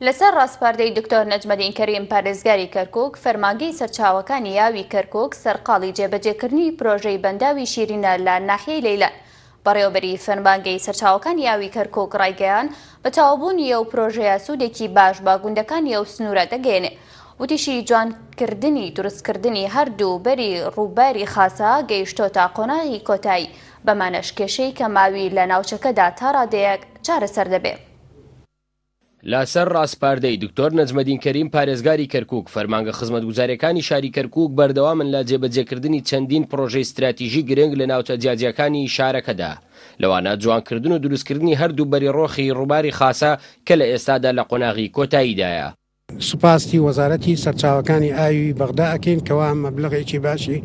لەسەر ڕاسپاردەی دکتۆر نەجمەدین کەریم پارێزگاری کەرکوک، فەرمانگەی سەرچاوەکانی ئاوی کەرکوک سەرقاڵی جێبەجێکردنی پرۆژەی بەنداوی شیرینە لە ناحیەی لەیلان. بەڕێوەبەری فەرمانگەی سەرچاوەکانی ئاوی کەرکوک ڕایگەیاند، بە تەواوبوونی ئەو پرۆژەیە سوودێکی باش بە گوندەکانی ئەو سنوورە دەگەیەنێ. وتیشی، جوانکردنی دروستکردنی هەردوو بەری ڕووباری خاسە گەیشتۆتە قۆناغی کۆتایی، بەمانەش کێشەی کەمئاوی لە ناوچەکەدا تا ڕادەیەک چارەسەر دەبێ. لەسەر ڕاسپاردەی دکتۆر نەجمەدین کەریم پارێزگاری کەرکوک، فەرمانگە خزمەتگوزارییەکانی شاری کەرکوک بەردەوامن لە جێبەجێکردنی چەندین پڕۆژەی ستراتیژی گرنگ لە ناوچە جیاجیاکانی شارەکەدا، لەوانە جوانکردن و دروستکردنی هەردوو بەری ڕۆخی ڕووباری خاسە کە لە ئێستادا لە قۆناغی کۆتاییدایە. سوپاسی وەزارەتی سەرچاوەکانی ئاوی بەغدا ئەکەین کەوا مەبلەغێکی باشی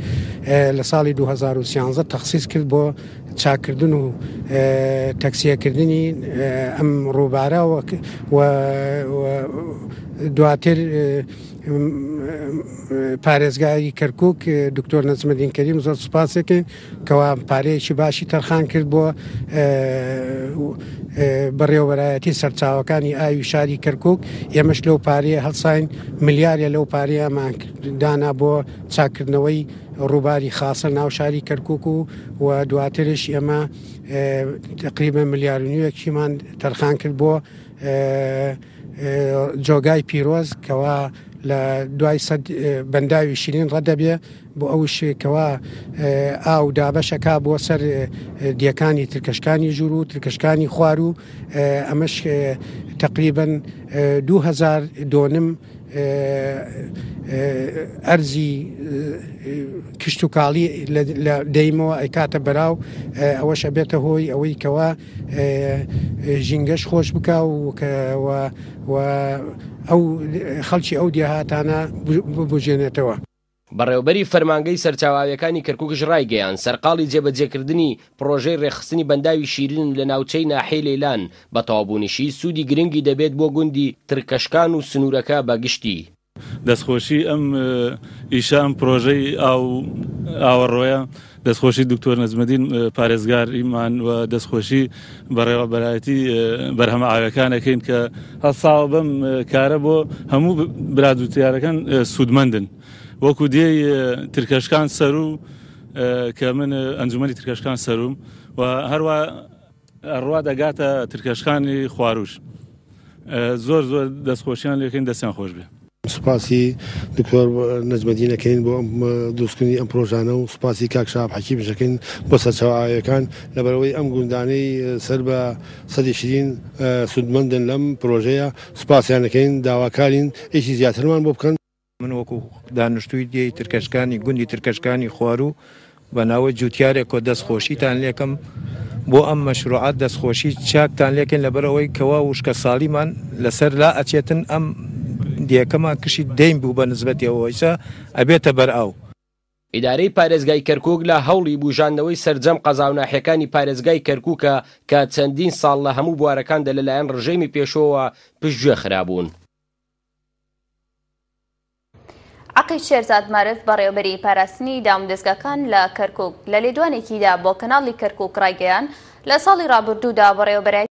لە ساڵی 2013 تەخسیس کرد بۆ چاککردن و تەکسیەکردنی ئەم ڕووبارە و دواتر پارێزگاری کەرکک دکتۆر نەجمەدین کەریم زۆر سوپاسێکین کەوا پارەیەکی باشی تەرخان کرد بۆ بەڕێوەبەرایەتی سەرچاوەکانی ئاوی شاری کەرکک ئێمەش لەو پارەیە هەڵساین ملیارە لەو پارەیەمان دانا بۆ چاکردنەوەی ڕووباری خاسە ناو شاری کەرکک و و دواترش ئێمە تقریبا ملیار و نیوێکیمان تەرخان کرد بۆ جۆگای پیرۆز کەوا لە دوای سەد بەنداوی شیرین ڕەدەبێ بۆ ئەوش کەوا ئاو دابەشەکا بۆ سەر دیەکانی ترکەشکانی ژوور و ترکەشکانی خوار و ئەمەش تقریبن 2000 دۆنم ئەرزی کشتتوکاڵی لە دەیمەوە ئەیکاتە بەراو ئەوەش ئەبێتە هۆی ئەوەی کەوا ژینگەش خۆش بکا و و ئەو خەڵکی ئەو دێهاتانە ببوژێنێتەوە. بەڕێوەبەری فەرمانگەی سەرچاوە ئاوییەکانی کەرکوکش ڕایگەیاند، سەرقاڵی جێبەجێکردنی پڕۆژەی ڕێکخستنی بەنداوی شیرینن لە ناوچەی ناحیەی لەیلان، بە تەواوبوونیشی سوودی گرنگی دەبێت بۆ گوندی ترکەشکان و سنوورەکە بە گشتی. دەستخۆشی ئەم ئیشە ئەم پرۆژەی ئاو ئاوەڕۆیە دەستخۆشی دکتۆر نەجمەدین پارێزگاریمان و دەستخۆشی بەڕێوەبەرایەتی بەرهەمە ئاوەکان ئەکەین کە هەڵساوە بەم کارە بۆ هەموو برا جوتیارەکان سوودمەندن وەکو دێی ترکەشکان سەرو کە من ئەنجومەنی ترکەشکان سەروم و هەروە ئەڕوا دەگاتە ترکەشکانی خواروش زۆر زۆر دەستخۆشیان لێکەین دەستیان خۆش بێ. سوپاسی دکتۆر نەجمەدین ئەکەین بۆ ئەم دروستکردنی ئەم پرۆژانە و سوپاسی کاک شەهاب حەکیمیش ئەکەین بۆ سەرچاوە ئاویەکان لەبەرئەوەی ئەم گوندانەی سەر بە سەدی شیرین سوودمەندن لەم پرۆژەیە سوپاسیان ئەکەین داواکارین ئیشی زیاترمان بۆ بکەن. من وەکو دانشتووی دێی ترکەشکانی گوندی ترکەشکانی خواروو بە ناوەی جوتیارێکەوە دەست خۆشیتان لێکەم بۆ ئەم مەشروعە دەست خۆشی چاکتان لێکەین لەبەر ئەوەی کەوا وشکە ساڵیمان لەسەر لا ئەچێتن ئەم دێکەمان کشی دەین بوو بە نسبەتی ئەوە ئیسا ئەبێتە بەر ئاو. ئیدارەی پارێزگای کەرکوک لە هەوڵی بوژاندنەوەی سەرجەم قەزا و ناحیەکانی پارێزگای کەرکوکە کە چەندین ساڵ لە هەموو بوارەکاندا لەلایەن ڕژێمی پێشووەوە پشتگوێ خرابوون. عەقید شێرزاد مارف بەڕێوەبەری پاراستنی دامودەزگاکان لە کەرکوک لە لێدوانێکیدا بۆ کەناڵی کەرکوک ڕایگەیاند، لە ساڵی ڕابردوودا بەڕێوەبەرایەتی.